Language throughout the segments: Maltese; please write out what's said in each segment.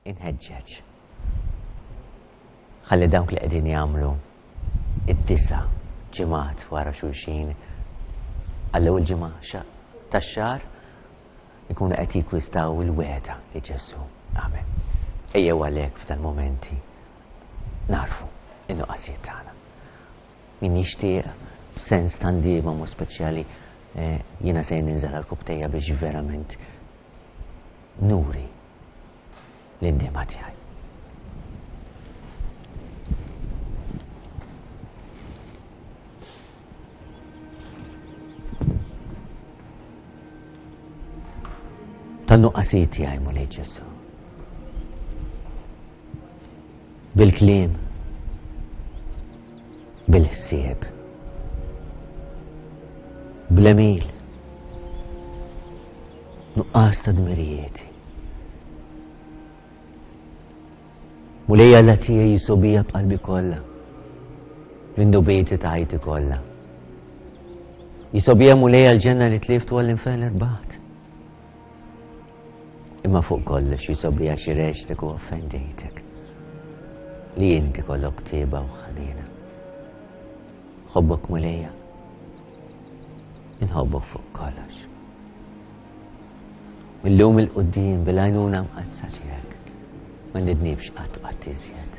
Inħeġġeġ ħalli dawk li qegħdin jagħmlu id-disa' ġimgħat wara xulxin għall-ewwel ġimgħa tax-xahar ikunu qed jikkwistaw il-wegħda li Ġesù għamel. Ejjew għalhekk f'dal-mumenti narfu in-nuqqasijiet tagħna. Min jixtieq b'sens ta' ndiema mod speċjali eh, jiena se ninżel għal kubtejja biex verament nuri l-indiema tiegħi. Tan-nuqqasijiet tiegħi Mulej Ġesù. Bil-kliem, bil-ħsieb, bl-għemil, nuqqas ta' dmirijieti. Mulej Alla tiegħi jisobija b'qalbi kollha, minn dubieti ta' ħajti kollha. Jisobija Mulej għall-ġenna li tlift u għall-infern irbaħt. Imma fuq kollox jisobija xi reġtek u offendejtek. Li inti kollok tieba u ħanina. Ħobbok Mulejja. Inħobbok fuq kollox. Millum il-qudiem bil-għajnuna mqaddsa tiegħek ma nidnibx qatt qatt iżjed.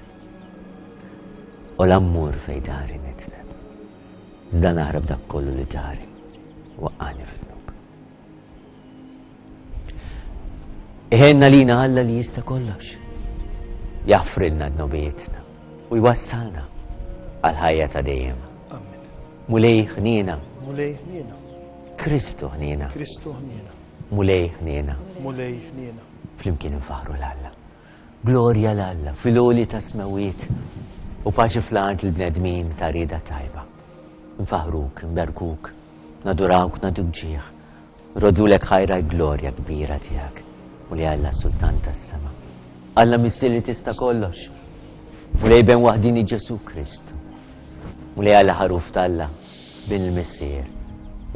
U l-ammur fej dari nitneb. Iżda naħrab dak kollu li dari waqqani fid-dnub. Iħenna lina Alla li jista' kollox. Jaħfrilna dnubietna u jwassalna għal ħajja ta' dejjem. Amen. Mulej ħniena. Mulej ħniena. Kristu ħniena. Kristu ħniena. Mulej ħniena. Mulej ħniena. Flimkien infaħru l-Alla. Glorja l-Alla fil-għoli ta' smewiet u paċi fl-art il-bnedmin ta' rieda tajba. Nfaħruk, nberkuk, nadurawk, naduk ġieħ. Nroddulek ħajr għall-glorja kbira tiegħek, Mulej Alla Sultan tas-sema. Alla Missier li tista' kollox. Mulej Ben waħdini Ġesu Kristu. Mulej Alla ħaruf t'Alla, bin il-Missier.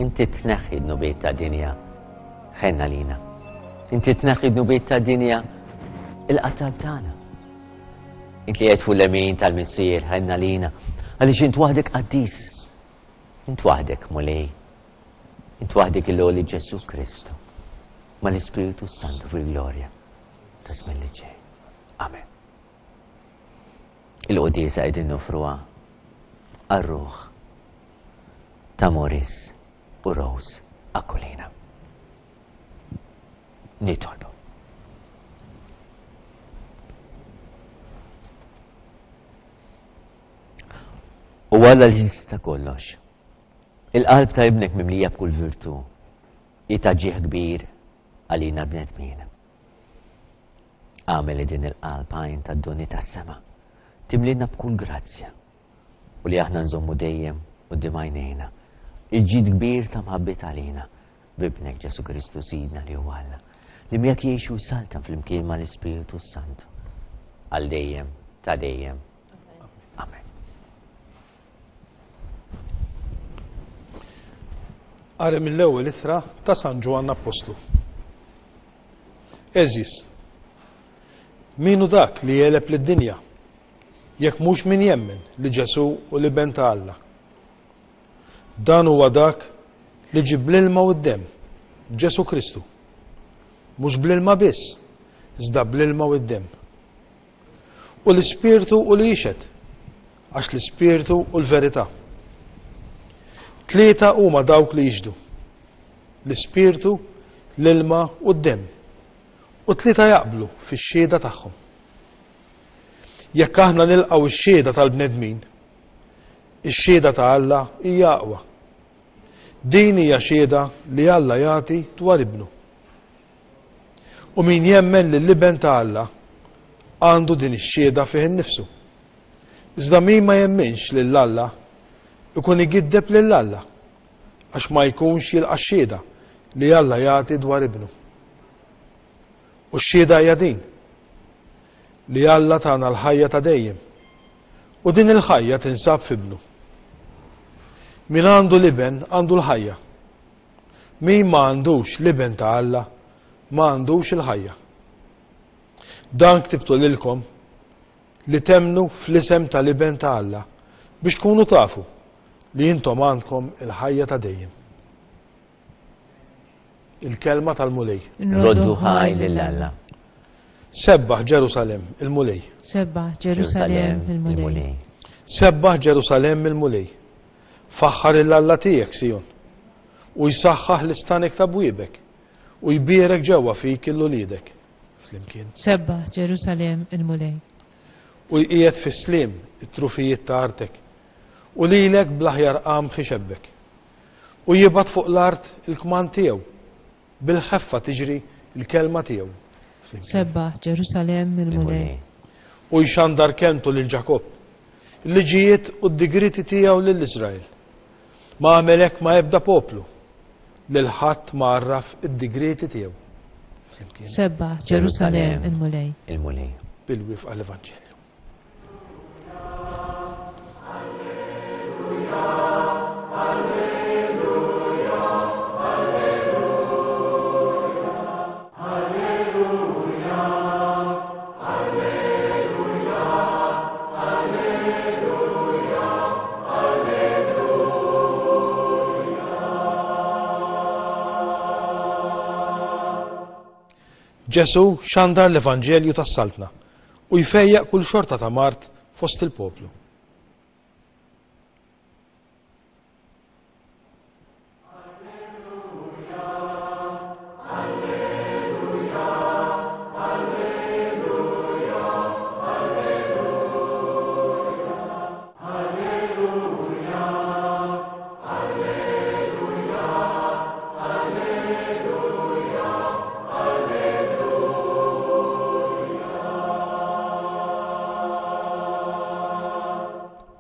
Inti tneħħi dnubiet ta' dinja. Ħenna lina. Inti tneħħi dnubiet ta' dinja il-qatar tagħna. Int li qed fuq l-lemin tal-Missier, ħenna lina. Għaliex int waħdek qaddis. Int waħdek, Mulej. Int waħdek il-għoli Ġesù Kristu, mal-Ispirtu s-Santu fil-glorja ta' żmien li ġej. Amen. Il-quddiesa qegħdin nofruha għar-ruħ ta' Morris u Rose Aquilina. Nitolbu. U Alla li jista' kollox. Il-qalb ta' Ibnek mimlija b'kull virtù hi ta' ġieħ kbir għalina l-bnedmin. Agħmel li din il-qalb għajn tad-doni tas-sema timlina b'kull grazzja u li aħna nżommu dejjem quddiem għajnejna il-ġid kbir ta' mħabbit għalina b'Ibnek Ġesù Kristu Sidna li huwa Alla, li miegħek jgħix u jsaltan flimkien mal-Ispirtu s-Santu għal dejjem ta' dejjem. Amen. Qari mill-ewwel ittra ta' San Ġwann Appostlu. Għeżież, min hu dak li jegħleb lid-dinja, jekk mhux min jemmen li Ġesù hu l-Iben ta' Alla? Dan huwa dak li ġie bl-ilma u d-demm, Ġesù Kristu. Mhux bl-ilma biss, iżda bl-ilma u d-demm. U l-Ispirtu hu li jixhed, għax l-Ispirtu hu l-verità. Tlieta huma dawk li jixhdu, l-Ispirtu, l-ilma u d-demm, u tlieta jaqblu fix-xhieda tagħhom. Jekk aħna nilqgħu x-xhieda tal-bnedmin, ix-xhieda ta' Alla hija aqwa. Din hija xhieda li Alla jagħti dwar Ibnu. U min jemmen lill-Iben ta' Alla għandu din ix-xhieda fih innifsu. Iżda min ma jemminx lil Alla ikun igiddeb lil Alla, għax ma jkunx jilqa' x-xhieda li Alla jagħti dwar Ibnu. U x-xhieda hija din, li Alla tana l-ħajja ta' dejjem, u din il-ħajja tinsab f'Ibnu. Min għandu l-Iben għandu l-ħajja. Min ma għandux l-Iben ta' Alla ma għandux il-ħajja. Dan ktibtu lilkom li temmnu fl-isem tal-Iben ta' Alla biex tkunu tafu li intom għandkom il-ħajja ta' dejjem. Il-kelma tal-Mulej. Roddu ħaj lil Alla. Sebbaħ Ġerusalemm il-Mulej. Sebbaħ Ġerusalemm il-Mulej. Sebbaħ Ġerusalemm il-Mulej. Faħħar 'il Alla tiegħek, Sijon, u jsaħħaħ l-istanek ta' bwiebek, u jbierek ġewwa fik 'il uliedek. Flimkien. Sebbaħ Ġerusalemm il-Mulej. U jqiegħed fis-sliem it-trufijiet ta' artek, u lilek bl-aħjar qamħ ixebbek. U jibgħat fuq l-art il-kmand tiegħu, Bil-ħeffa tiġri l-kelma tiegħu. Sebbaħ, Ġerusalemm, il-Mulej. U jxandar kelmtu lil Ġakobb, il-liġijiet u d-digrieti tiegħu lil Iżrael. Ma għamel hekk ma' ebda poplu, lil ħadd ma għarraf id-digrieti tiegħu. Sebbaħ, Ġerusalemm, il-Mulej. Il-Mulej. Bil-wifqa l-Evanġelju. Ġesù xandar l-evanġelju tas-Saltna u jfejjaq kull xorta ta' mard fost il-poplu.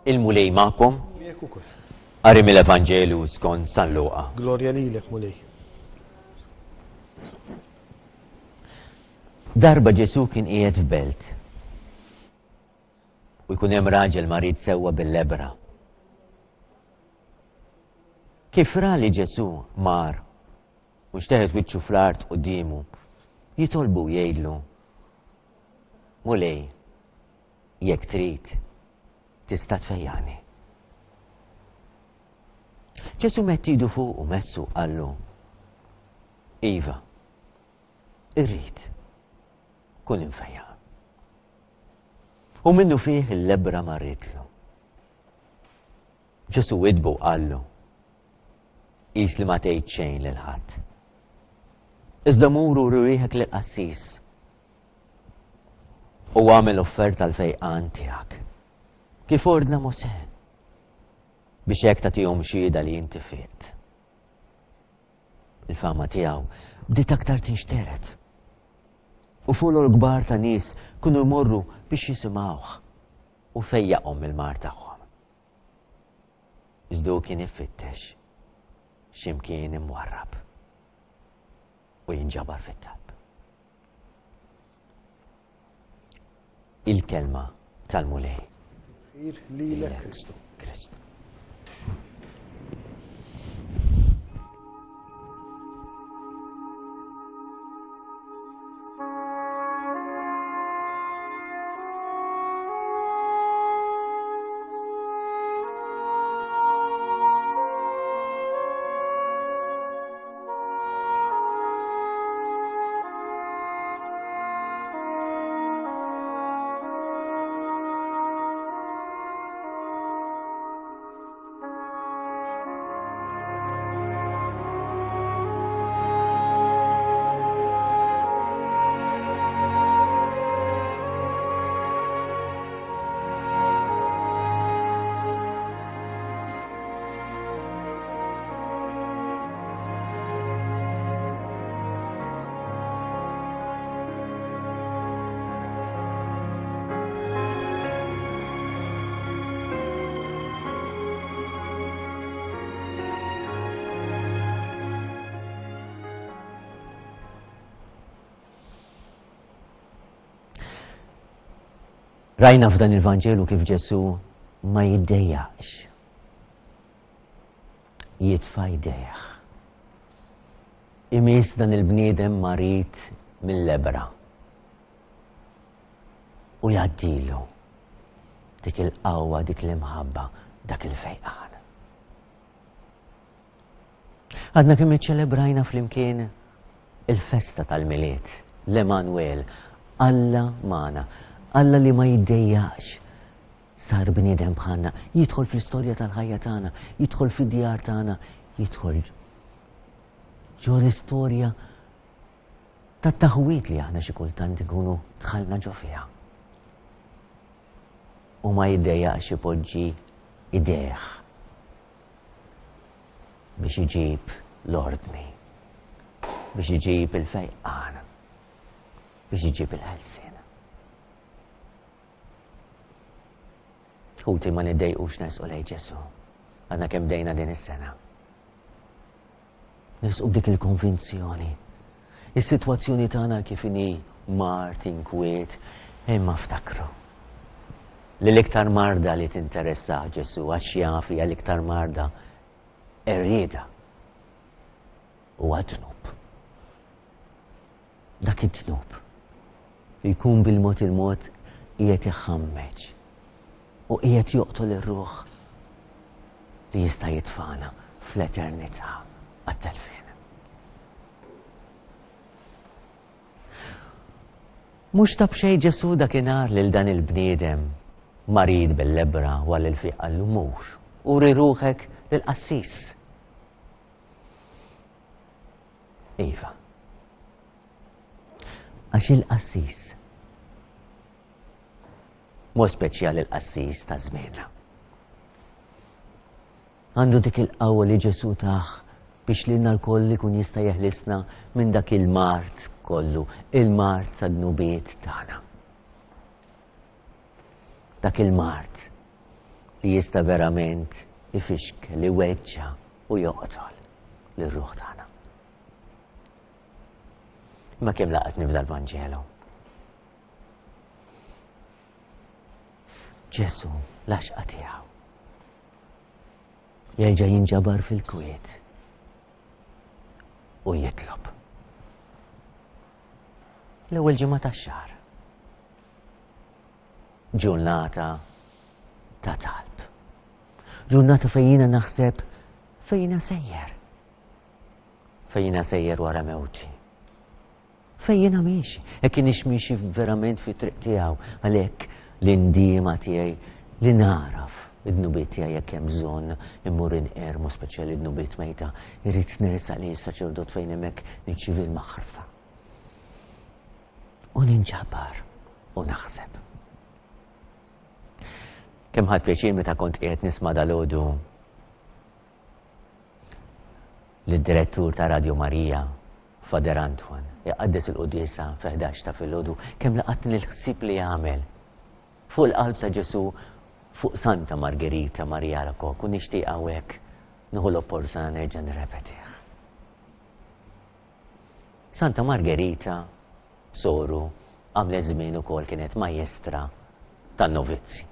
Il-Mulej magħkom. Qari mill-Evanġelju skont San Luqa. Glorja lilek, Mulej. Darba Ġesu kien qiegħed f'belt. U jkun hemm raġel marid sewwa bil-lebbra. Kif ra li Ġesù mar u xteħet wiċċu fl-art quddiemu, jitolbu u jgħidlu, Mulej, jekk trid, tista' tfejjaqni. Ġesù medd idu fuqu messu qallu, Iva, irrid, kun imfejjaq. U minnufih il-lebbra marritlu. Ġesù widdbu u qallu, Qis li ma tgħid xejn lil ħadd. Iżda mur uri rieħek lill-qassis u agħmel offerta għall-fejqan tiegħek, kif ordna Mosè, biex hekk tagħtihom xhieda li inti fiqt. Il-fama tiegħu bdiet aktar tinxtered. U folol kbar ta' nies kienu jmorru biex jisimgħuh u fejjaqhom mill-mar tagħhom. Iżda hu kien ifittex x'imkien imwarrab u jinġabar fit-talb. Il-kelma tal-Mulej. Lilek Kristu. Kristu. Rajna f'dan il-Vanġelu kif Ġesu ma jiddejjaqx. Jitfa' jdejh. Imiss dan il-bniedem marid mill-lebra. U jgħaddilu dik il-qawwa, dik l-imħabba, dak il-fejqan. Għadna kemm iċċelebrajna flimkien il-festa tal-Milied, l-Emanuel, Alla magħna, Alla li ma jiddejjaqx sar bniedem bħalna, jidħol fl-istorja tal-ħajja tagħna, jidħol fid-djar tagħna, jidħol ġo l-istorja tat-taħwid li aħna xi kultant ikunu dħalna ġo fiha. U ma jiddejjaqx ipoġġi idejh biex iġib l-ordni, biex iġib il-fejqan, biex iġib il-ħelsien. Ħuti ma niddejqux nersqu lejn Ġesù. Għadna kemm bdejna din is-sena. Nersqu b'dik il-konvinzjoni. Is-sitwazzjoni tagħna kif inhi mard, inkwiet, imma ftakru li l-iktar marda li tinteressa Ġesù għax jaf hija l-iktar marda qerrieda huwa dnub. Dak id-dnub li jkun bil-mod il-mod qiegħed iħammeġ u qiegħed joqtol ir-ruħ li jista' jitfagħna fl-eternità għat-telfien. Mhux ta' b'xejn Ġesù dakinhar lil dan il-bniedem marid bil-lebbra wara li l-fiq qallu mur, uri ruħek lill-qassis. Iva. Għax il-qassis, mod speċjali l-qassis ta' żmienna, għandu dik il-qawwa li Ġesù tah biex lilna lkoll ikun jista' jeħlisna minn dak il-mard kollu, il-mard tad-dnubiet tagħna. Dak il-mard li jista' verament ifixkel, iweġġa' u joqtol lir-ruħ tagħna. Imma kemm laqatni f'dal-Vanġelu. Ġesu l-għaxqa tiegħu. Jerġa' jinġabar fil-kwiet u jitlob. L-ewwel ġimgħa tax-xahar. Ġurnata ta' talb. Ġurnata fejn jiena naħseb fejn jiena sejjer. Fejn jiena sejjer wara mewti. Fejn jiena miexi. Hekk kienx miexi verament fi triq tiegħu għalhekk l-indiema tiegħi li naraf id-dnubiet tiegħi jekk hemm bżonn immur inqermu speċjali dnubiet mejta, irrid nersaq li s-saċerdot fejn hemmhekk niċċievi l-maħrfa. U ninġabar u naħseb. Kemm ħadt pjaċir meta kont qiegħed nisma' dalgħodu lid-direttur ta' Radio Marija, Fader Antoine, iqaddes il-quddiesa fi 11 ta' filgħodu, kemm laqatni l-ħsieb li għamel fuq il-qalb ta' Ġesù fuq Santa Margherita Maria Alacoque u nixtieq hawnhekk nieħu l-opportunità nerġa' nirrepetih. Santa Margherita soru għamlet żmien ukoll kienet majestra tan-novizzi.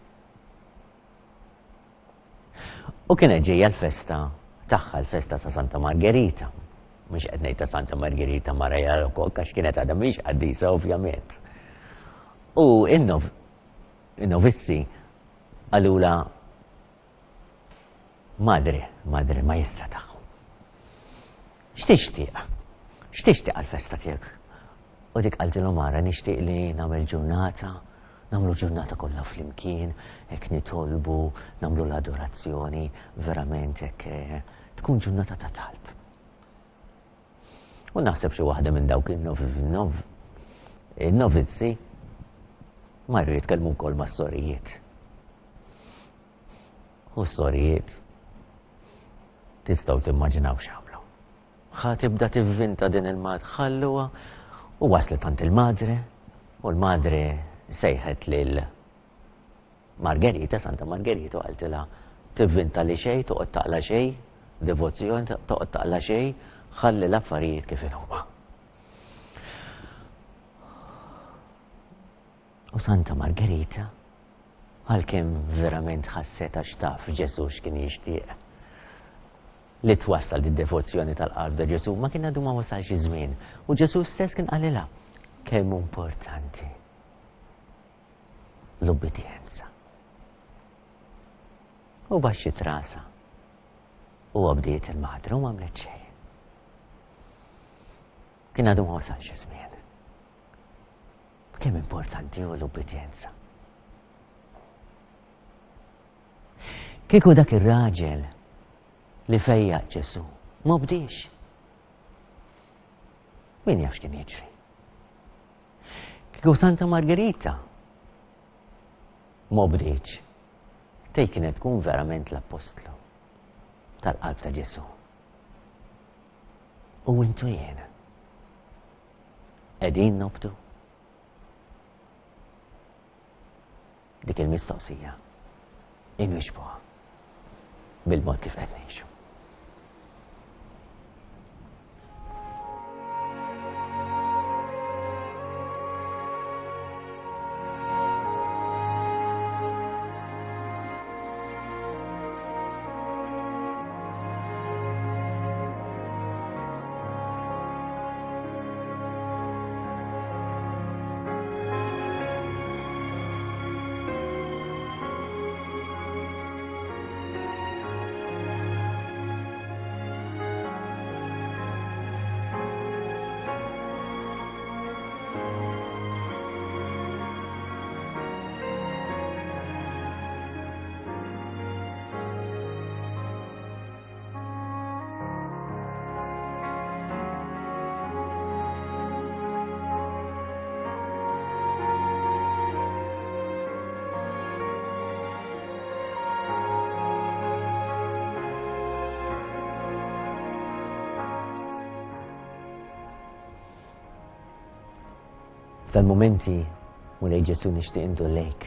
U kienet ġejja l-festa tagħha, l-festa ta' Santa Margherita. Mhux qed ngħid ta' Santa Margherita Maria Alacoque għax kienet għadha mhix qaddisa ovvjament. U in-novizzi qalula Madre, madre, majestra tagħhom. X'tixtieq? X'tixtieq għall-festa tiegħek? U dik qaltilhom ara nixtieq li nagħmel ġurnata, nagħmlu ġurnata kollha flimkien, hekk nitolbu, nagħmlu l-adorazzjoni, verament hekk eh, tkun ġurnata ta' talb. U naħseb xi waħda minn dawk in-novizzi marru jitkellmu wkoll mas-sorijiet. U s-sorijiet tistgħu timmaġinaw x'għamlu. Ħa tibda tivvinta din il-mad ħalluha u waslet għand il-madre u l-madre sejħet lil Margherita, Santa Margherita, u qaltilha tivvinta li xejn, toqgħod taqla xejn, devozzjoni, toqgħod taqla xejn, ħalli l-affarijiet kif inhuma. U Santa Margherita, għalkemm verament ħasset għax taf Ġesù x'kien jixtieq, li twassal d-devozzjoni tal-qalb ta' Ġesù, ma kien għadu ma wasalx iż-żmien. U Ġesù stess kien qalilha kemm importanti. L-ubbidjenza. U baxxiet rasha u obdiet il-madre u m'għamlet xejn. Kien għadu ma wasalx iż-żmien. Kemm importanti hu l-ubbidjenza. Kieku dak ir-raġel li fejjaq Ġesu ma bdiex. Min jaf x'kien jiġri? Kieku Santa Margherita ma bdietx, tej kienet tkun verament l-appostlu tal-qalb ta' Ġesu. U intu jiena. Qegħdin nobdu? Dik il-mistoqsija inwiġbuha bil-mod kif qed ngħixu. F'dal-mumenti, Mulej Ġesu nixtieq indur lejk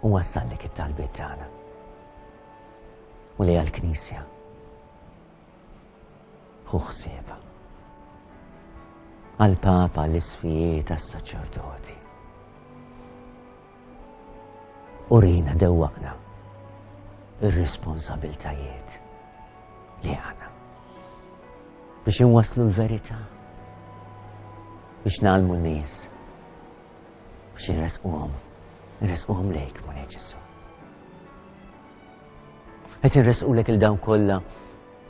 u wassallek it-talbiet tagħna. Mulej għall-Knisja. Ħu ħsiebha. Għall-Papa, l-isfijiet, għas-saċerdoti. Urina dewwaqna ir-responsabiltajiet li għandna biex inwasslu l-verità, biex nagħlmu n-nies, biex inresquhom, inresquhom lejk, Mulej Ġesu. Qed inresqulek il dawn kollha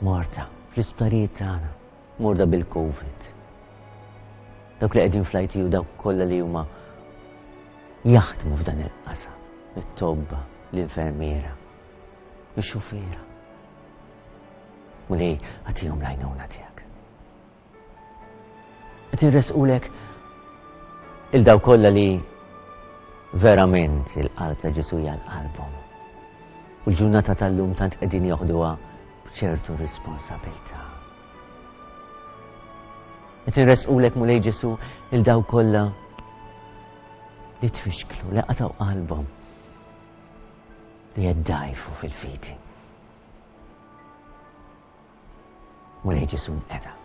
morta fl-isptarijiet tagħna, morda bil-COVID. Dawk li qegħdin fl-ITU dawk kollha li huma jaħdmu f'dan il-qasam, it-tobba, l-infermiera, ix-xufiera. Mulej, għatihom l-għajnuna tiegħek. Qed inresqulek il daw kollha li verament il-qalb ta' Ġesu hija l-qalbhom. U l-ġurnata tal-lum tant qegħdin joħduha b'ċertu responsabilità. Qed inresqulek Mulej Ġesu il daw kollha li tfixklu, li qatgħu qalbhom li jeddajfu fil-fidi. Mulej Ġesu nqeda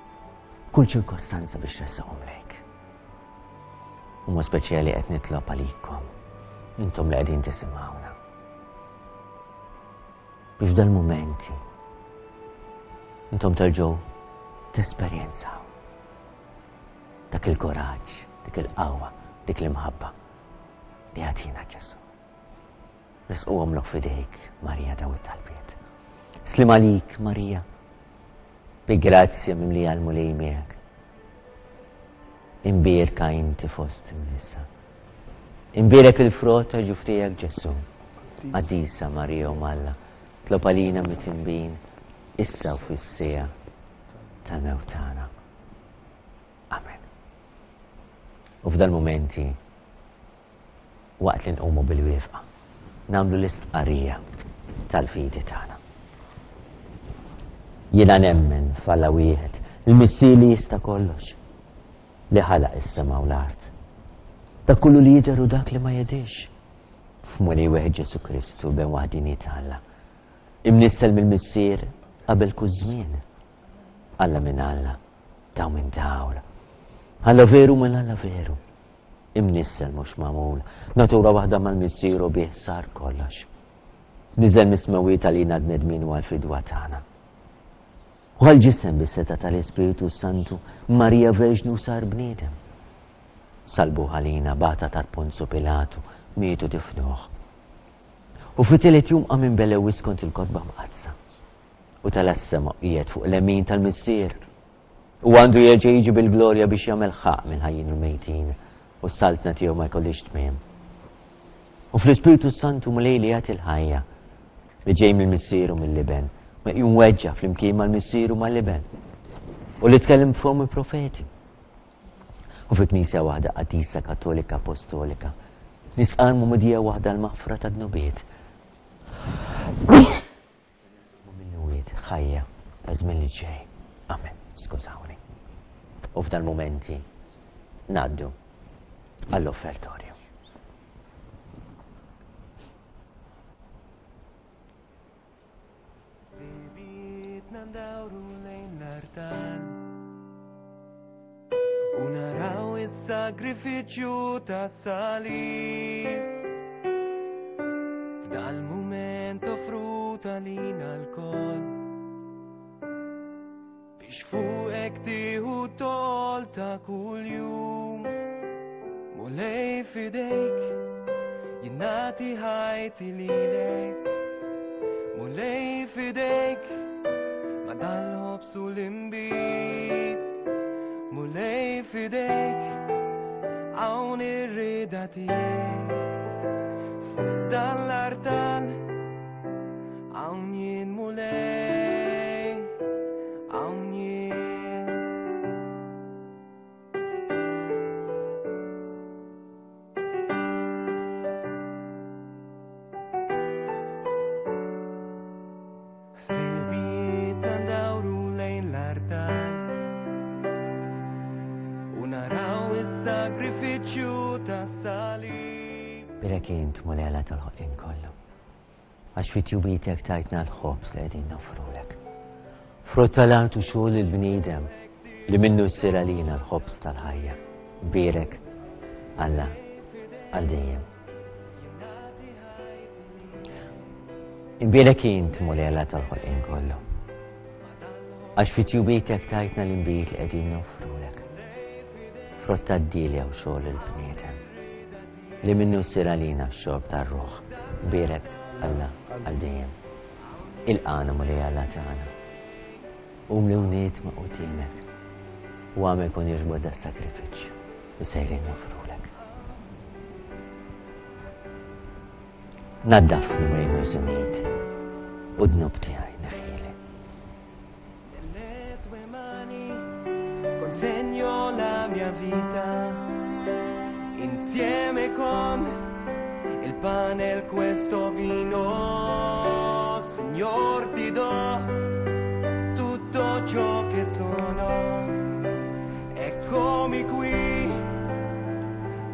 kull ċirkostanza biex ressaqhom lejk. U mod speċjali qed nitlob għalikom, intom li qegħdin tisimgħuna. Biex dal-mumenti intom terġgħu tesperjenzaw dak il-kuraġġ, dik il-qawwa, dik l-imħabba li jagħtina Ġesu. Resquhomlok f'idejk, Marija, daw it-talbiet. Slim għalik, Marija, bi grazzja mimlija l-Mulej miegħek. Imbierka inti fost in-nisa. Imbierek il-frott ta' ġuf tiegħek Ġesù. Qaddisa Marija u Malla, tlob għalina mitinbin issa u fis-siegħa tal-mewt tagħna. Amen. U f'dal-mumenti Waqt li nqumu bil-wieqfa, nagħmlu l-istqarrija tal-fidi tagħna. Jiena nemmen f'Alla wieħed, il-Missier li jista' kollox, li ħalaq is-sema u l-art. Dak kollu li jidher u dak li ma jidhirx. F'Mulej wieħed Ġesù Kristu, Ben waħdini ta' Alla. Imnissel mill-Missier qabel kull żmien. Alla minn Alla, daw minn dawl. Alla veru minn Alla veru. Imnissel mhux magħmul, natura waħda mal-Missier u bih sar kollox. Niżel mis-smewwiet għalina l-bnedmin u għall-fidwa tagħna. U għall-ġisem bis-setgħa tal-Ispirtu s-Santu, Marija Verġni u sar bniedem. Salbuh għalina, bata tat Ponzu Pilatu, Miet u difnuh. U fit-tielet jum qam minn belewi skont il-Kotba Mqaddsa. U tela' s-sema u qiegħed fuq lemin tal-Missier. U għandu jerġa' jiġi bil-glorja biex jagħmel ħaqq mill-ħajjin u l-mejtin, u s-saltna tiegħu ma jkollhiex tmiem. U fl-Ispirtu s-Santu Mulej li jagħti l-ħajja, li ġej mill-Missier u mill-Iben, meqjum weġġa' flimkien mal-Missier u mal-Iben, u li tkellem b'fomm il-profeti. U fi Knisja waħda qaddisa Kattolika Apostolika, nisqar mumudija waħda l-maħfra ta' dnubiet. U minnuwiet ħajja ta' żmien li ġej. Amen. Skużawni. U f'dal momenti naddu għall-offertorju. Sibitna ndawru lejn l-artal U naraw is-sagrifiċċju tas-salib F'dal-mument offrut għalina lkoll Biex fuqek tieħu tol ta' kuljum Mulej fidejk jien nagħti ħajti lilek Mulej fidejk ma' dal-ħobż u l-inbid Mulej fidejk hawn ir-rieda tiegħi Fuq dan l-artal Hawn jien Mulej, hawn jien. Ħsibijietna ndawru lejn l-artal u naraw is-sagrifiċċju tas-salib. Birek int Mulej Alla tal-ħolqien kollu. Għax fi tjubitek tajtna l-ħobż li qegħdin noffrulek. Frott tal-art u xogħol il-bniedem li minnu jsir għalina l-ħobż tal-ħajja. Bierek Alla għal dejjem. Imbierek int Mulej Alla tal-ħolqien kollu. Għax fi tjubitek tajtna l-inbid li qegħdin noffrulek. Frott tad-dilja u xogħol il-bniedem. Li minnu ssir għalina x-xorb tar-ruħ. Bierek Alla għal dejjem. Ilqagħna Mulej Alla tagħna. U mliwniet ma' quddiemek. U agħmel kun jogħġbok das-sagrifiċċju li sejrin noffrulek. Naddafni Mulej miż-żumijiet u d-dnub tiegħi neħħili. Nelle tue mani consegno la mia vita insieme con il pane e questo vino. Signor, ti do tutto ciò che sono. Eccomi qui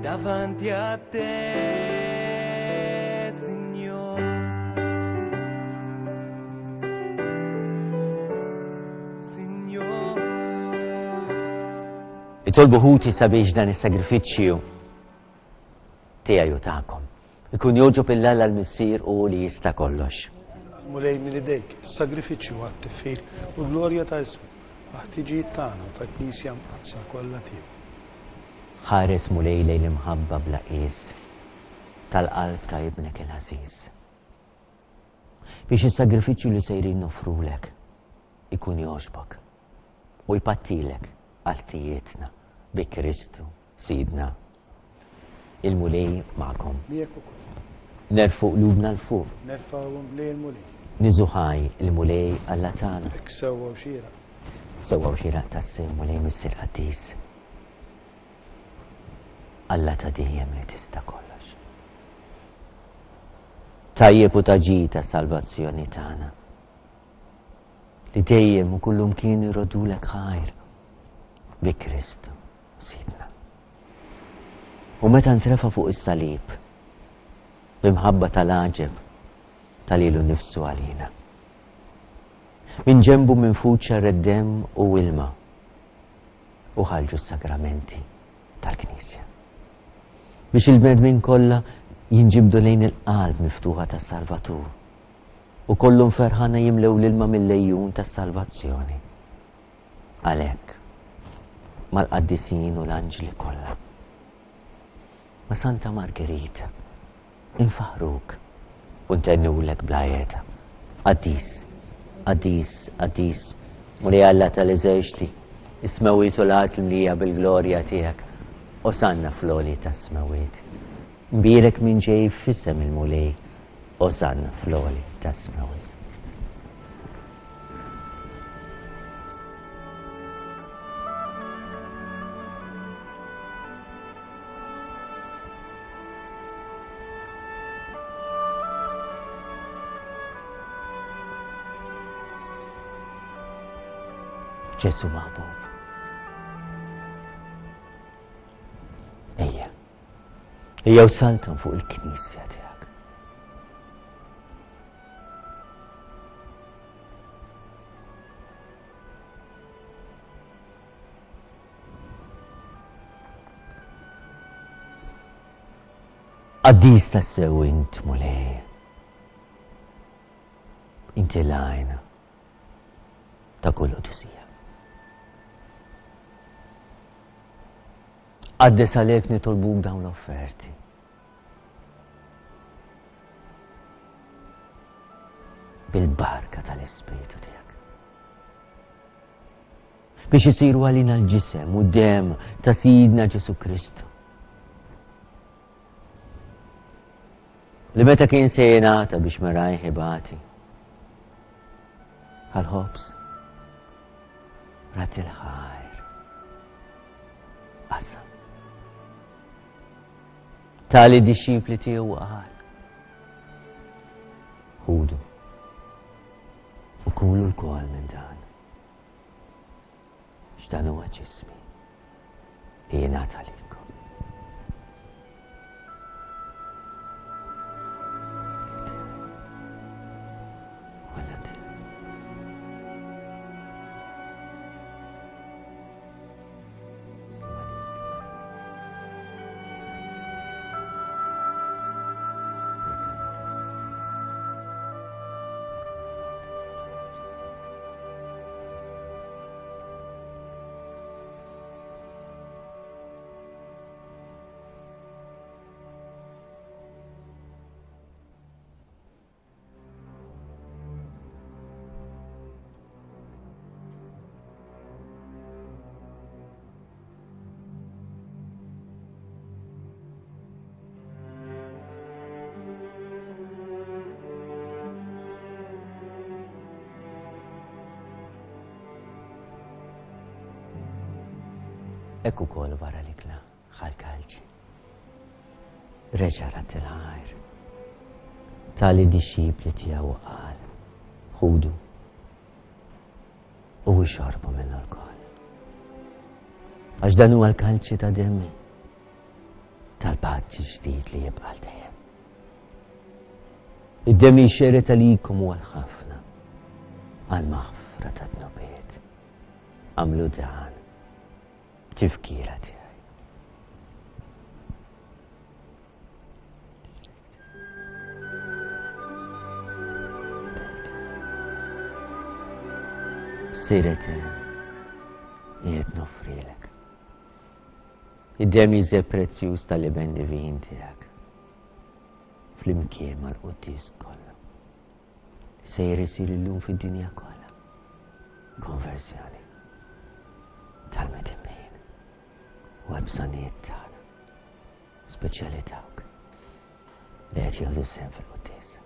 davanti a te, Signor. Signor. Itolbu ħuti sabiex dan is-sagrifiċċju tiegħi u tagħkom ikun jogħġob 'il Alla l-Missier u li jista' kollox. Mulej minn idejk, is-sagrifiċċju għat-tifħir u l-glorja ta' ismu, għall-ħtiġijiet tagħna u tal-Knisja Mqaddsa kollha tiegħu. Ħares Mulej lejn l-imħabba bla qies tal-qalb ta' Ibnek il-għażiż. Biex is-sagrifiċċju li sejrin noffrulek ikun jogħġbok u jpattilek għal ħtijietna bi Kristu Sidna. Il-Mulej magħkom. Miegħek ukoll. Nerfgħu qlubna 'l fuq. Nerfgħuhom lejn il-Mulej. Niżu ħaj il-Mulej Alla tagħna. Hekk sewwa u xieraq. Sewwa u xieraq tassew Mulej Missier Qaddis. Alla ta' dejjem li tista' kollox. Tajjeb u ta' ġid għas-salvazzjoni tagħna. Li dejjem u kullumkien irrodulek ħajr bi Kristu Sidna. U meta ntrefa' fuq is-salib, b'imħabba tal-għaġeb ta lilu nnifsu għalina. Minn ġenbu minfud xerred demm u ilma u ħarġu s-sagramenti tal-Knisja. Biex il-bnedmin kollha jinġibdu lejn il-qalb miftuħa tas-Salvatur u kollhom ferħana jimlew l-ilma mill-għejun tas-salvazzjoni. Għalhekk, mal-qaddisin u l-anġli kollha, ma' Santa Margherita. Infaħruk u ntennulek bla qiegħda. Qaddis, qaddis, qaddis, Mulej Alla tal-eżerċti, is-smewwiet u l-art mlija bil-glorja tiegħek. Osanna fl-għoli tas-smewwiet. Mbierek min ġej f'isem il-Mulej, Osanna fl-għoli tas-smewwiet. Ġesu maħbub. Ejja. Ejja u saltan fuq il-knisja tiegħek. Qaddis tassew int Mulej. Inti l-għajn ta' kull qdusija. Qaddis għalek nitolbuk dawn l-offerti. Bil-barka tal-Ispirtu tiegħek. Biex isiru għalina l-ġisem u d-demm ta' Sidna Ġesu Kristu. Li meta kien se jingħata biex merajh ibati. Għal-ħobż. Rat il-ħajr. Qasam. Tali dixxipli tiegħu qal. Ħudu. U kulu lkoll minn dan. X'dan huwa ġismi li jingħata lilkom. Hekk ukoll wara l-ikla ħa l-kalċi. Reġa' radd il-ħajr. Ta lid-dixxipli tiegħu u qal, Ħudu u ixorbu minnu lkoll. Għax dan huwa l-kalċi ta' demmi tal-patt ġdid li jibqa' għal dejjem. Id-demm li jxerred għalikom u għal ħafna għal maħfra ta' dnubiet. Għamlu dan tifkira tiegħi. Siret jiet noffrilek. Id-demm jiżeb prezzjuż tal-iben divin tiegħek. Flimkien mal-quddies kollha. Sejjer isir illum fid-dinja kollha. Konversjoni tal-midinbin u għall-bżonnijiet tagħna, speċjali dawk li qed jieħdu sehem fil-quddiesa.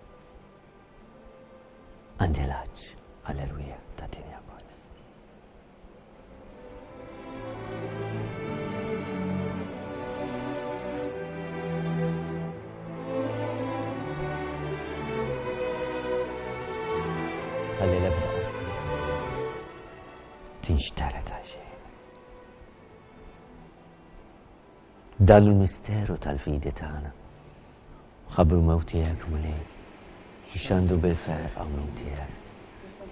Għandi l-għatx għall-erwieħ tad-dinja kollha. Ħalli l-ebda tinxtara ta' xejn. Dan il-misteru tal-fidi tagħna. Ħabbru mewt tiegħek Mulej. Xandu bil-ferħ qawmien tiegħek.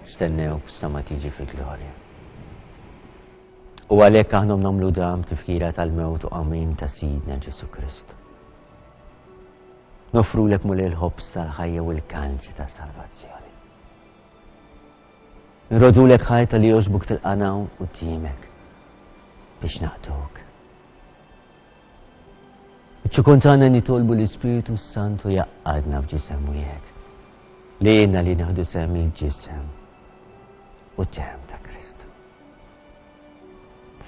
Stennewk sa ma tiġi fi glorja. U għalhekk aħna nagħmlu dam tifkira tal-mewt u qawmien ta' Sidna Ġesu Kristu. Nofrulek Mulej l-ħobż tal-ħajja u l-kanċi tas-salvazzjoni. Nrodulek ħajta li jogħġbok tilqana quddiemek biex naqduk. Iċ-ċokon tagħna nitolbu l-Ispirtu Santu jgħaqqadna f'ġisem wieħed. Lejna li nieħdu sehem il-ġisem u d-demm ta' Kristu.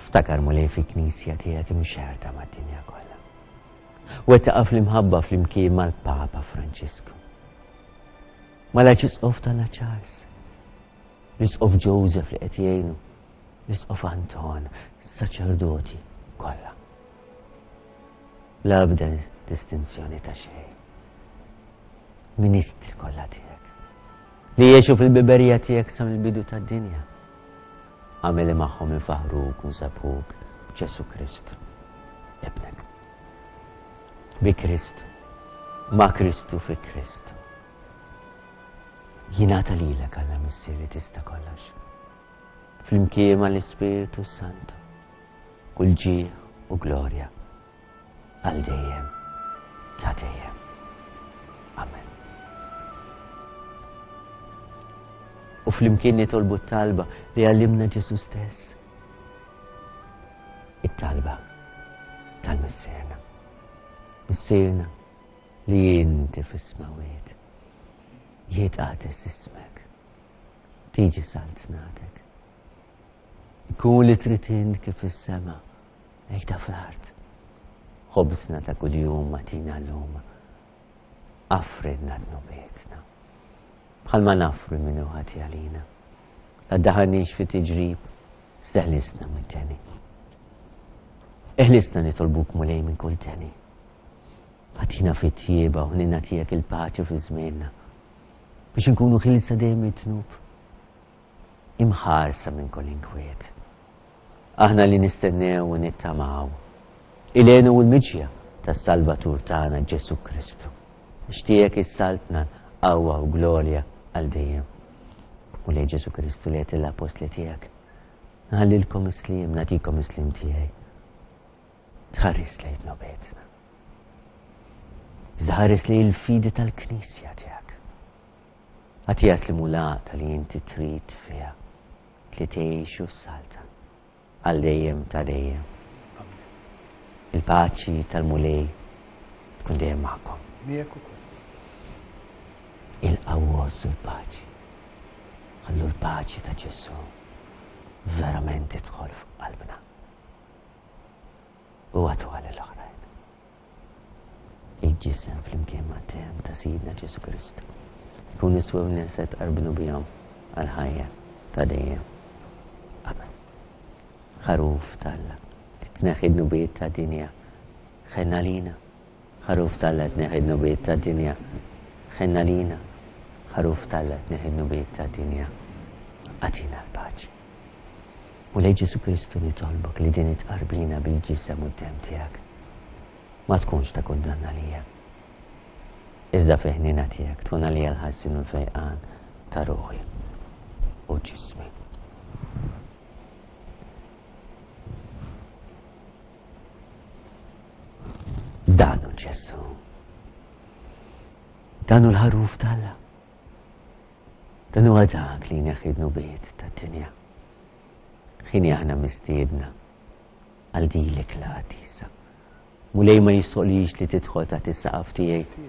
Ftakar Mulej fil-Knisja tiegħek imxerrda mad-dinja kollha. Wettaqa fl-imħabba flimkien mal-Papa Franġisku. Mal-Arċisqof tagħna Charles, l-Isqof Joseph li qed jgħinu, l-Isqof Anton, saċerdoti kollha. L-ebda distinzjoni ta' xejn. Ministri kollha tiegħek. Li jgħixu fil-biberija tiegħek sa mill-bidu tad-dinja. Agħmel li magħhom infaħħruk u nsabbħuk b'Ġesù Kristu, Ibnek. Bi Kristu, ma' Kristu fi Kristu. Jingħata lilek Alla Missier li tista' kollox. Flimkien mal-Ispirtu Santu, kull ġieħ u glorja għal dejjem ta' dejjem. Amen. U flimkien nitolbu t-talba li għallimna Ġesu stess. It-talba tal-Missierna. Missierna li inti fis-smawiet. Jitqades ismek. Tiġi saltnatek. Ikun li trid int kif is-sema, hekk ta' fl-art. Ħobżna ta' kuljum agħtina llum. Affridna dnubietna. Bħalma naffru min hu ħati għalina. La ddaħħalniex fi tiġrib, iżda ħlisna mid-deni. Eħlisna nitolbuk Mulej minn kull deni. Agħtina fit-tjieba u ħnina tiegħek il-paċi fi żmienna. Biex inkunu ħilsa dejjem mid-dnub. Imħarsa minn kull inkwiet. Aħna li nistennew u nittamaw il-għena u l-miġja tas-Salvatur tagħna Ġesù Kristu. Għax tiegħek is-saltna, l-qawwa u glorja għal dejjem. Mulej Ġesù Kristu li għedt lill-appostli tiegħek, Nħallilkom is-sliem, nagħtikom is-sliem tiegħi. Tħares lejn dnubietna. Iżda ħares lejn il-fidi tal-Knisja tiegħek. Agħtiha slim u l-għaqda li inti trid fiha li tgħix u ssaltan għal dejjem ta' dejjem. Il-paċi tal-Mulej tkun dejjem magħkom. Miegħek ukoll. Ilqgħu għożżu l-paċi. Ħallu l-paċi ta' Ġesù verament tidħol f'qalbna. U għatuha lill-oħrajn. Il-ġisem flimkien mad-demm ta' Sidna Ġesù Kristu jkunu swewna se tqarbnu bihom għall-ħajja ta' dejjem. Amen. Ħaruf t'Alla li tneħħi d-dnubiet tad-dinja, ħenn għalina. Ħaruf t'Alla tneħħi d-dnubiet tad-dinja, ħenn għalina. Ħaruf t'Alla tneħħi d-dnubiet tad-dinja, agħtina l-paċi. Mulej Ġesù Kristu nitolbok li din it-tqarbina bil-ġisem u d-demm tiegħek ma tkunx ta' kundanna għalija. Iżda fi ħniena tiegħek tkun għalija l-ħarsien u l-fejqan ta' ruħi u ġismi. Dan hu Ġesù. Dan hu l-ħaruf t'Alla. Dan huwa dak li jneħħi dnubiet tad-dinja. Ħini aħna mistiedna għal din l-ikla qaddisa. Mulej ma jistoqlix li tidħol taħt is-saqaf tiegħi,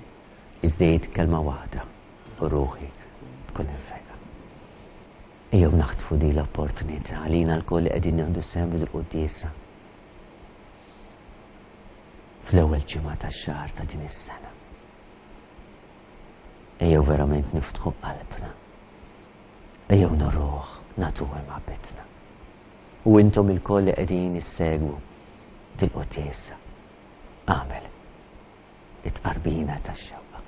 iżda jgħid kelma waħda u ruħi tkun imfejqa. Ejjew naħtfu din l-opportunità għalina lkoll li qegħdin nieħdu sehem fil-quddiesa fl-ewwel ġimgħa tax-xahar ta' din is-sena. Ejjew verament niftħu qalbna. Ejjew nuruh, nagħtuh imħabbitna. U intom ilkoll li qegħdin issegwu dil-quddiesa, agħmel it-tqarbina tax-xewqa.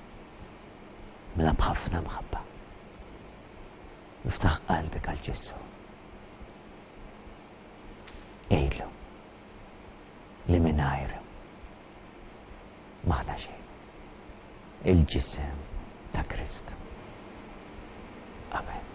Mela b'ħafna mħabba. Iftaħ qalbek għal Ġesù. Għidlu li mingħajru m'aħna xejn. Il-ġisem ta' Kristu. Amen.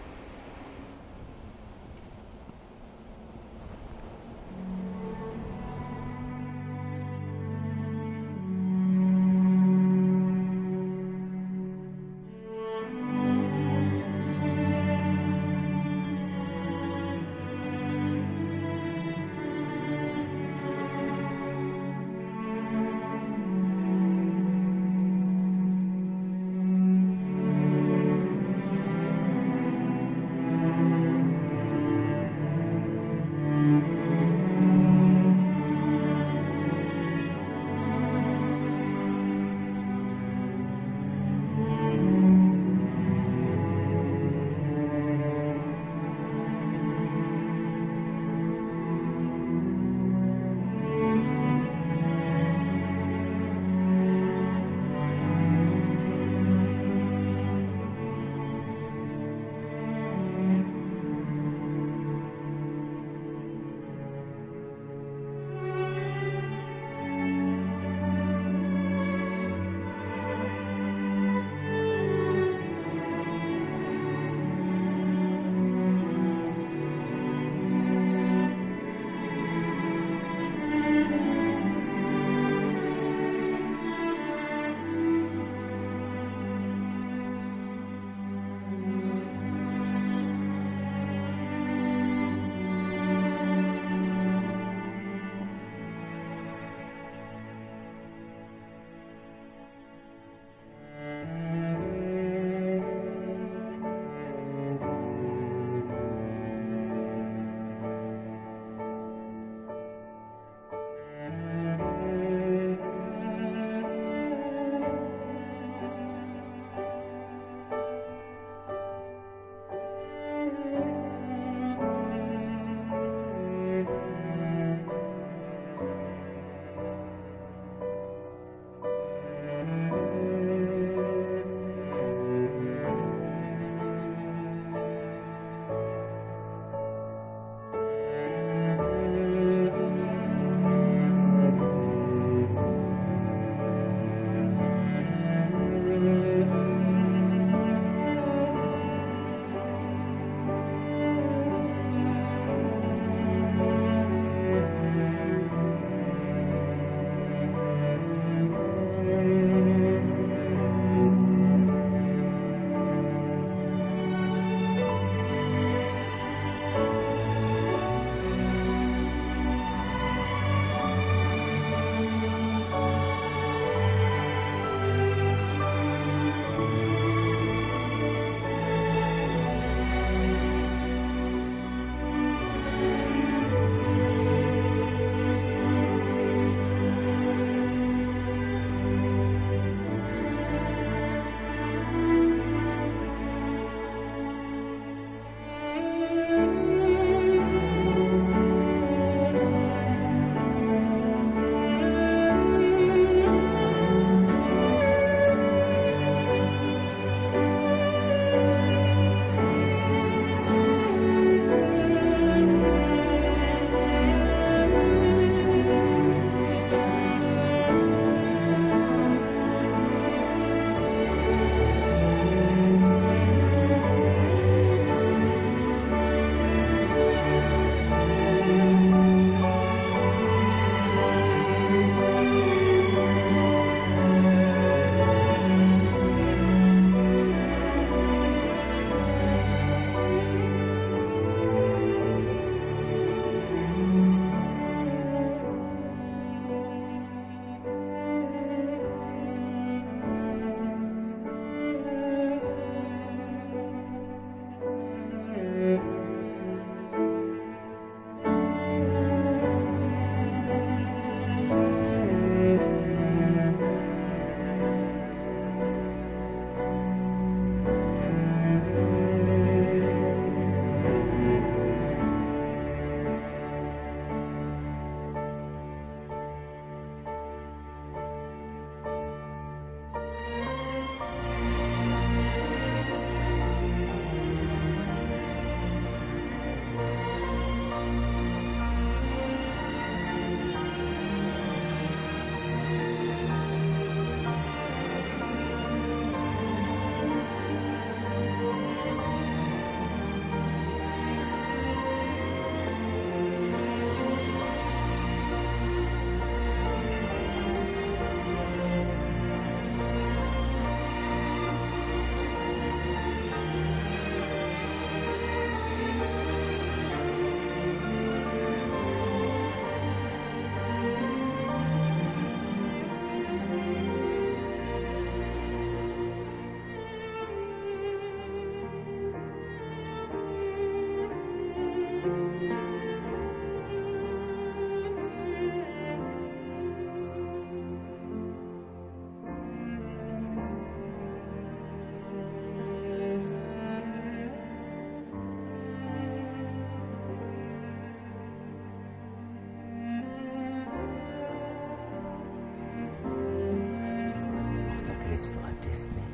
qaddisni,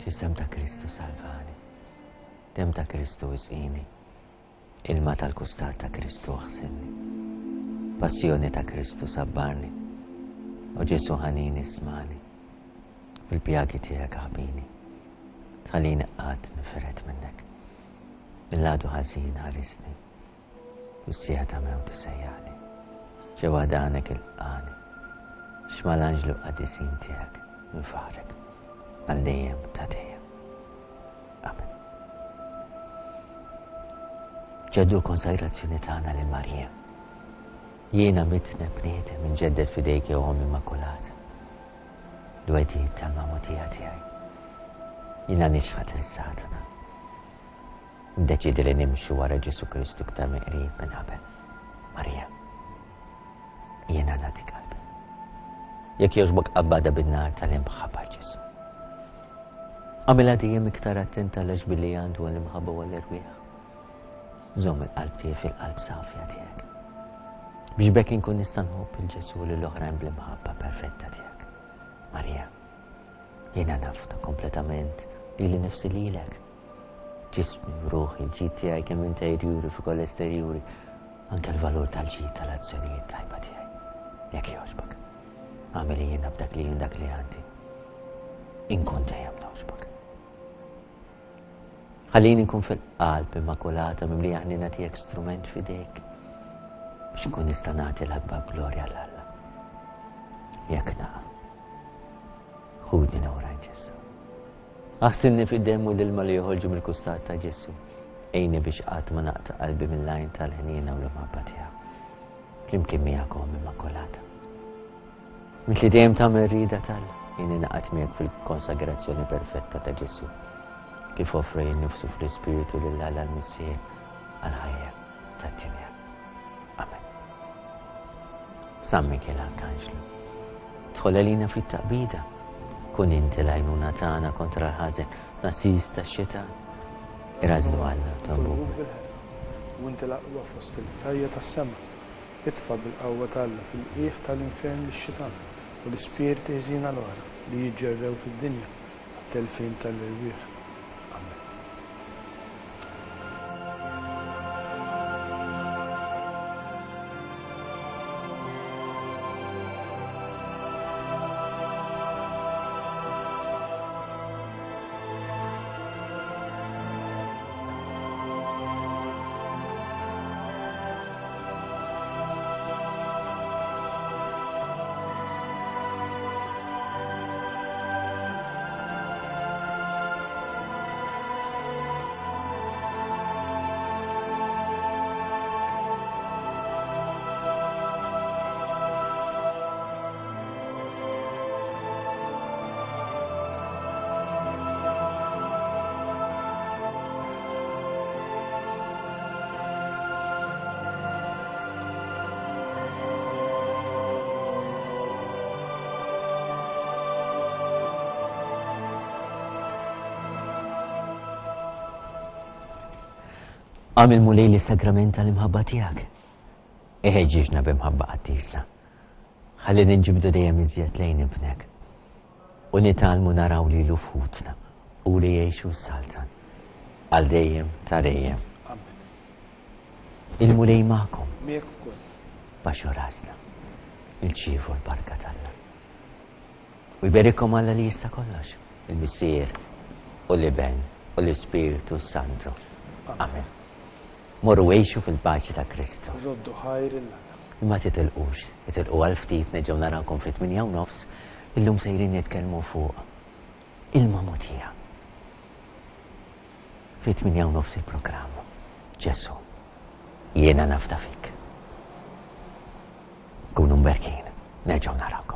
Ġisem ta' Kristu salvani, Demm ta' Kristu isqini, Ilma tal-kustat ta' Kristu aħsilni, Passjoni ta' Kristu sabbarni, O Ġesu ħanin ismani, Fil-pjagi tiegħek aħbini, Tħallini qatt nifired minnek. Mill-għadu ħażin ħarisni, Fis-siegħa ta' mewti sejjaħli, Ġewwa danek ilqagħni, Biex mal-anġlu qaddisin tiegħek nfaħħrek għal dejjem ta' dejjem. Amen. Ġeddu l-konsagrazzjoni tagħna lil Marija. Jiena mitneb bniedem inġedded f'idejk jew Omm Immakulata. L-wegħdiet tal-magħmudija tiegħi. Jiena nixħat lil Satana. Ndeċidi li nimxu wara Ġesu Kristu iktar mill-qrib minn qabel. Marija, jiena nagħti qalbi. Jekk jogħġbok qabbada bin-nar tal-imħabba Ġesu. Għamilha dejjem iktar attenta għal billi għandu għall-imħabba u għall-erwieħ. Żomm il-qalb tiegħi fil-qalb safja tiegħek. Biex bekk inkun nista' nħobb il-Ġesu lil oħrajn bl-imħabba perfetta tiegħek. Marija, jiena nafda kompletament lili nifsi lilek. Ġismi, ruħi, l-ġid tiegħi kemm interjuri fuq ukoll esterjuri, anke l-valur tal-ġid tal-azzjonijiet tajba tiegħi. Jekk jogħġbok, agħmel jiena b'dak li jien dak li għandi. Inkun dejjem nogħġbok. Ħallini nkun fil-qalb immakulata mimlija ħnina tiegħek strument f'idejk biex nkun nista' nagħti l-akbar glorja l Alla. Jekk naqa' ħudni lura Ġesu. Aħsilni fid-demm u l-ilma li joħorġu mill-kustat ta' Ġesù. Għinni biex qatt ma naqta' qalbi mill-għajn tal-ħniena u l-imħabba tiegħek. Flimkien miegħek Omm Immakulata. Int li dejjem tagħmel rieda t'Alla, jien ingħaqad miegħek fil-konsagrazzjoni perfetta ta' Ġesù, kif offra jien nifsu fl-Ispirtu lil Alla l-Missier għall-ħajja tad-dinja. Amen. San Mikiel Arkanġlu, dħol għalina fit-taqbida, kun inti l-għajnuna tagħna kontra l-ħażen, l-għassies tax-xitan. Irażlu Alla, tolbuk. U inti l-aqwa fost il-qtajja tas-sema, itfa' bil-qawwa t'Alla fil-qiegħ tal-infern lix-xitan u l-ispirti ħżiena l-oħra li jiġġerrew fid-dinja għat-telfien tal-erwieħ. Amen. Għamil Mulej li sagrament tal-imħabba tiegħek. Iħeġġiġna b'imħabba qaddisa. Ħalli ninġibdu dejjem iżjed lejn ibnek. U nitgħallmu naraw lilu f'ħutna u li jgħixu s-saltan. Għal dejjem ta' dejjem. Amen. Il-Mulej magħkom. Miegħek ukoll. Baxxu rasna. Irċievu l-barka t'Alla. U jberikkom Alla li jista' kollox, il-Missier u l-Iben u l-Ispirtu Santu. Amen. Morru għixu fil-paċi ta' Kristu. Roddu ħajr 'il Alla. Ma titilqux, itilqu għal ftit nerġgħu narawkom fit-tmienja u nofs, illum sejrin nitkellmu fuq il-magħmudija. Fit-tmienja u nofs il-programm. Ġesù, jiena nafda fik. Kunu mberkin, nerġgħu narawkom.